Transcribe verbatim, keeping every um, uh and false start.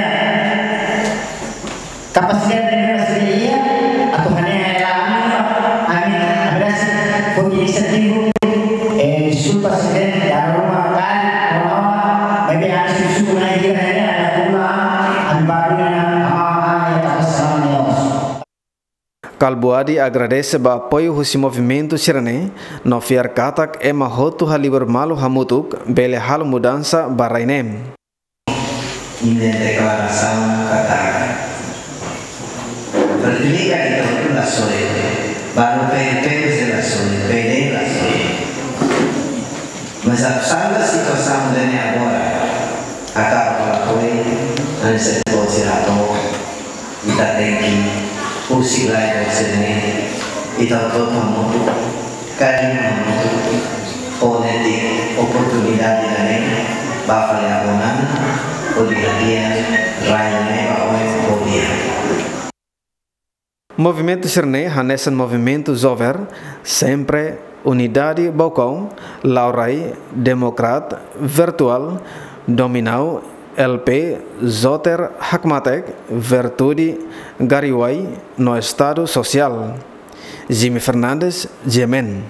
ne'e kapasidade ne'ebé sira iha, atu hanehan hela ami, ami, ami rasik foti inisiativa, eh, deskulpa se den, dala ruma kali, ruma, maibé ami susu na iha ne'e, ami akuma, ami baru na, ama, ama, ya, kapasitas ne'e. Kalbuadi agradese ba apoiu husi movimentu sira-ne'e, no fiar katak ema hotu halibur malu hamutuk, bele halo mudansa ba rai ne'e. Ita deklarasaun katak, Frelimo ita hotu la soe, balu P N P la soe, P D la soe. Mas atu salva situasaun ida-ne'e agora, atu ba apoiu, hanesan ita-boot sira hato'o, ita tenke husik lai boot sira-ne'e, ita hotu hamutuk, kaer hamutuk, fó netik oportunidade ida-ne'e ba fali agora, hodi hadi'a rai ne'e ba oin hodi. Movimentu sira-ne'e hanesan movimentu Zover, Sempre Unidade Baucau, Laurai, Demokrat, Vertual, Dominau, L P, Zoter, Hakmatek, Vertude, Gariuai, no Estadu Sosiál. Jimmy Fernandes, G M N.